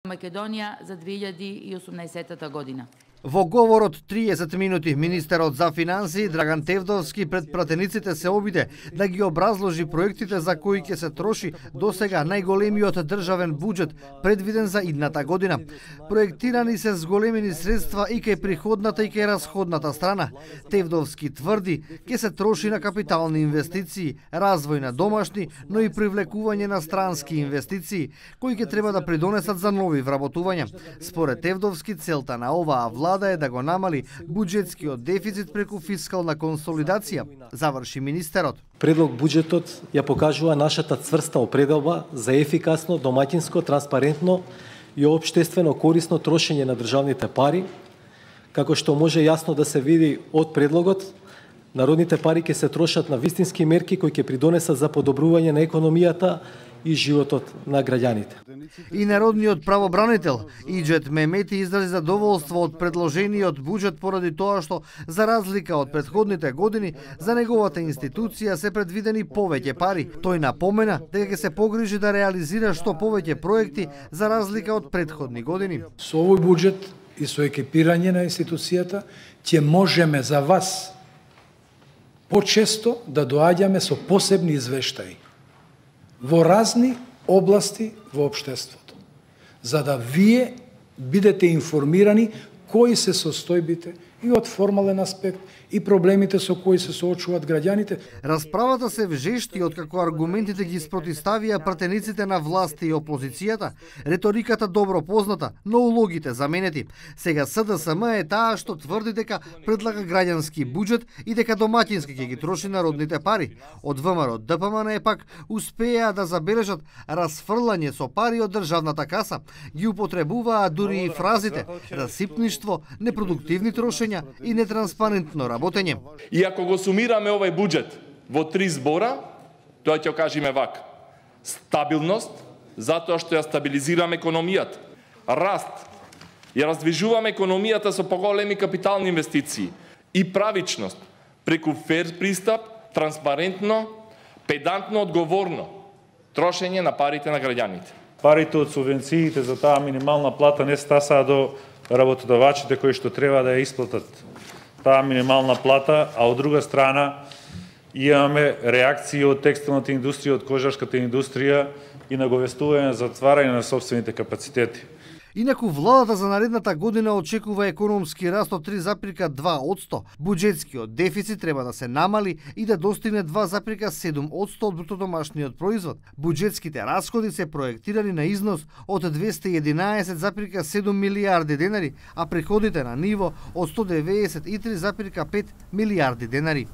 Македонија за 2018 година. Во говор од 30 минути, министерот за финансии Драган Тевдовски пред пратениците се обиде да ги образложи проектите за кои ќе се троши досега најголемиот државен буџет предвиден за идната година. Проектирани се зголемени средства и кај приходната и кај расходната страна. Тевдовски тврди ќе се троши на капитални инвестиции, развој на домашни, но и привлекување на странски инвестиции, кои ќе треба да придонесат за нови вработувања. Според Тевдовски, целта на оваа влада е да го намали буџетскиот дефицит преку фискална консолидација, заврши министерот. Предлог буџетот ја покажува нашата цврста определба за ефикасно, домаќинско, транспарентно и општествено корисно трошење на државните пари, како што може јасно да се види од предлогот. Народните пари ќе се трошат на вистински мерки кои ќе придонесат за подобрување на економијата и животот на граѓаните. И народниот правобранител Иџет Мемети изрази задоволство од предложениот буџет поради тоа што, за разлика од претходните години, за неговата институција се предвидени повеќе пари. Тој напомена дека ќе се погрижи да реализира што повеќе проекти за разлика од претходни години. Со овој буџет и со екипирање на институцијата ќе можеме за вас почесто да доаѓаме со посебни извештаи во разни области во општеството, за да вие бидете информирани кои се состојбите и од формален аспект и проблемите со кои се соочуваат граѓаните. Расправата се вжешти откако аргументите ги спротиставија пратениците на власт и опозицијата, реториката добро позната, но улогите заменети. Сега СДСМ е таа што тврди дека предлага граѓански буџет и дека домаќински ќе ги троши народните пари. Од ВМРО ДПМН пак успеа да забележат расфрлање со пари од државната каса. Ги употребуваа дури и фразите расипништво, непродуктивни трошења и нетранспарентно работење. И ако го сумираме овој буџет во 3 збора, тоа ќе кажеме вака: стабилност, затоа што ја стабилизираме економијата, раст, ја раздвижуваме економијата со поголеми капитални инвестиции и правичност, преку фер пристап, транспарентно, педантно, одговорно трошење на парите на граѓаните. Парите од субвенциите за таа минимална плата не стасаа до работодавачите кои што треба да ја исплатат таа минимална плата, а од друга страна имаме реакции од текстилната индустрија, од кожарската индустрија и наговестување за затварање на сопствените капацитети. Инаку владата за наредната година очекува економски раст од 3,2%. Буџетскиот дефицит треба да се намали и да достигне 2,7% од брутодомашниот производ. Буџетските расходи се проектирани на износ од 211,7 милијарди денари, а приходите на ниво од 193,5 милијарди денари.